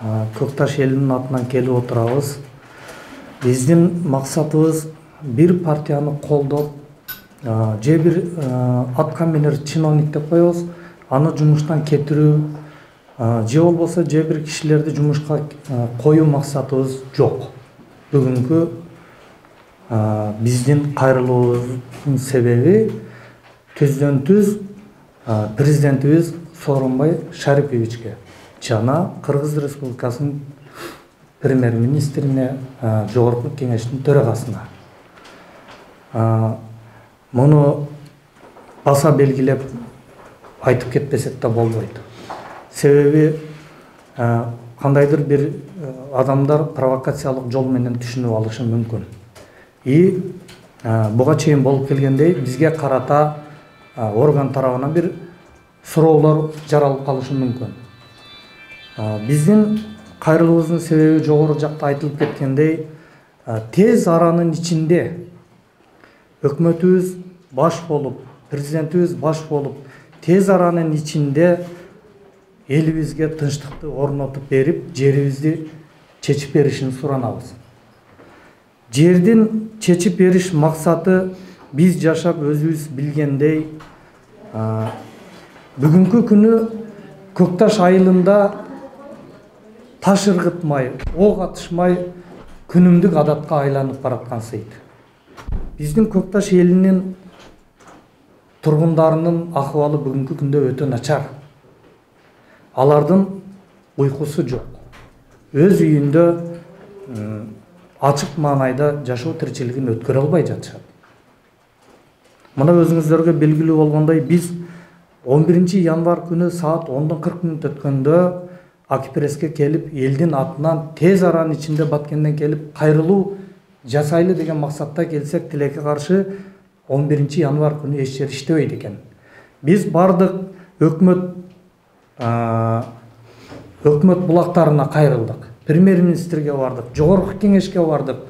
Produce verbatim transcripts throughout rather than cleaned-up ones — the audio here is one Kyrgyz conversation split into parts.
Көк Таш элинин атынан келип отурабыз. Биздин максатыбыз бир партияны колдоп, же бир атка минер чиновник деп коебуз, аны жумуштан кетирүү, же болбосо же бир кишилерди жумушка коюу максатыбыз жок. Бүгүнкү биздин кайрылуубуздун себеби түздөн түз президентибиз Сооронбай Шариповичке жана Кыргыз Республикасынын премьер-министрине, жогорку кеңештин төрагасына. Муну баса белгилеп айтып кетпесек да болбойт. Себеби кандайдыр бир адамдар провокациялык жол менен түшүнүп алышы мүмкүн. И буга чейин болуп келгендей бизге карата орган тарабынан бир суроолор жаралып калышы мүмкүн. Биздин кайрылуубуздун себеби жогору жакта айтылып кеткендей, тез аранын ичинде өкмөтүбүз баш болуп, президентибиз баш болуп, тез аранын ичинде элибизге тынчтыкты орнотуп берип, жерибизди чечип беришин суранабыз. Жердин чечип бериш максаты биз жашап өзүбүз билгендей, бүгүнкү күнү Көк Таш айылында таш ыргытмай, ок атышмай күнүмдүк адатка айланып бараткан сыйт. Биздин Көк Таш элинин тургундарынын акыбалы бүгүнкү күндө өтө начар. Алардын уйкусу жок. Өз үйүндө ачык маанайда жашоо тиричилигин өткөрө албай жатышат. Мына өзүңүздөргө белгилүү болгондой, биз он биринчи январь күнү саат ондон кырк мүнөт өткөндө Акипреске келип, элдин атынан тез аранын ичинде Баткенден келип кайрылуу жасайлы деген максатта келсек, тилекке каршы он биринчи январь күнү эч жер иштебейт экен. Биз бардык өкмөт өкмөт булактарына кайрылдык. Премьер-министрге бардык, жогорку кеңешке бардык,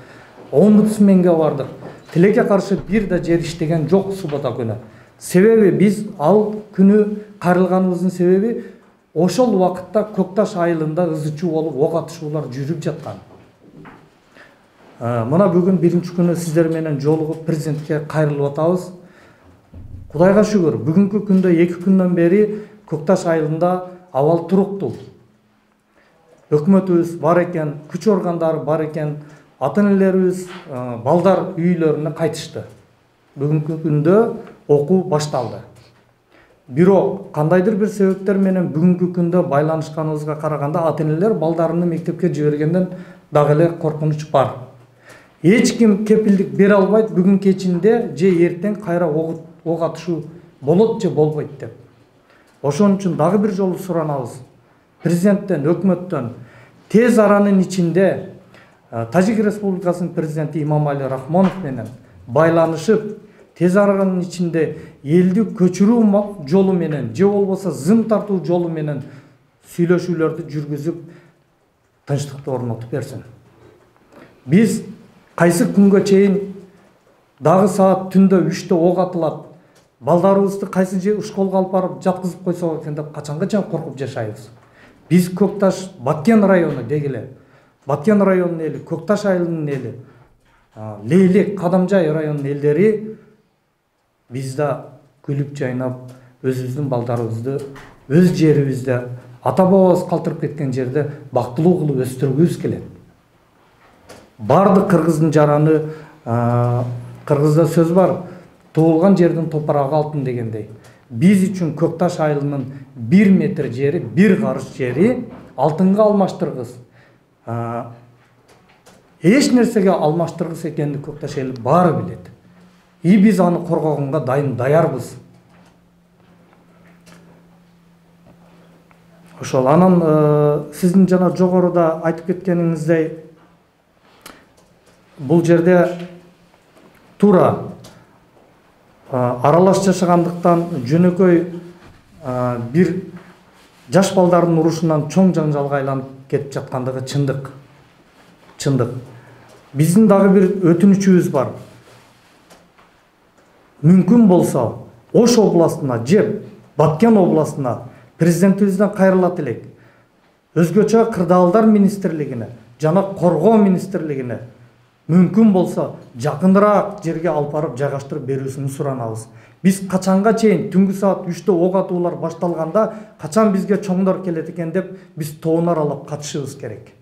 омбудсменге бардык. Тилекке каршы бир да жер иштеген жок суббота күнү. Себеби биз ал күнү кайрылганыбыздын себеби ошол убакытта Көк Таш айылында ызычуу болуп ок атышуулар жүрүп жаткан. Мына бүгүн биринчи күнү сиздер менен жолугуп президентке кайрылып атабыз. Кудайга шүгүр, бүгүнкү күндө эки күндөн бери Көк Таш айылында абал туруктуу. Өкмөтүбүз бар экен, күч органдары бар экен, ата-энелерибиз балдар үйлөрүнө кайтышты. Бүгүнкү күндө окуу башталды. Бирок кандайдыр бир себептер менен бүгүнкү күндө байланышканыбызга караганда ата-энелер балдарını мектепке жибергенден дагы эле коркунуч бар. Эч ким кепилдик бере албайт бүгүн кечинде же эртең кайра ок атышуу болот же болбойт деп. Ошон үчүн дагы бир жолу суранабыз. Президенттен, өкмөттөн тез аранын ичинде Тажик Республикасынын президенти Имамали Рахмонов менен байланышып, тез аранын ичинде элди көчүрүү жолу менен же болбосо зым тартуу жолу менен сүйлөшүүлөрдү жүргүзүп, тынчтыкты орнотуп берсин. Биз кайсы күнгө чейин дагы саат түндө үчтө ок атылат, балдарыбызды кайсы же школго алып барып жаткызып койсок экен деп качанга коркуп жашайбыз. Биз Көк Таш Баткен району дегиле, Баткен районунун эли, Көк Таш айылынын эли, Лейлек, Кадамжай районунун элдери биз да күлүп жайнап, өзүбүздүн балдарыбызды өз жерибизде, ата-бабабыз калтырып кеткен жерде бактылуу кылып өстүргүбүз келет. Бардык кыргыздын жараны, кыргызда сөз бар, туулган жердин топурагы алтын дегендей. Биз үчүн Көк Таш айылынын бир метр жери, бир карыш жери алтынга алмаштыргыс. Эч нерсеге алмаштыргыс экенин Көк Таш эли баары билет. И биз аны коргогонго дайым даярбыз. Ошол анан сиздин жана жогоруда айтып кеткениңиздей, бул жерде туура аралаш жашагандыктан жөнөкөй бир жаш балдардын урушунан чоң жаңжалга айланып кетип жаткандыгы чындык. Чындык. Биздин дагы бир өтүнүчүбүз бар. Мүмкүн болсо Ош областына же Баткен областына президентибизден кайрылат элек. өзгөчө кырдаалдар министрлигине жана коргоо министрлигине мүмкүн болсо жакыныраак жерге алып барып жайгаштырып берүүсүн суранабыз. Биз качанга чейин түнгү саат үчтө ок атуулар башталганда качан бизге чоңдор келет экен деп биз тоон аралап катышыбыз керек.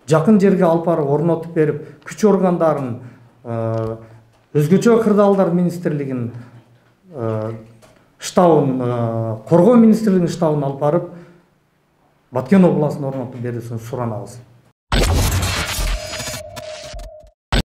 Жакын жерге алып барып орнотуп берип, күч органдарын, өзгөчө кырдаалдар министрлигинин штабын, коргоо министрлигинин штабын алып барып Баткен областына орнотуп берүүсүн суранабыз.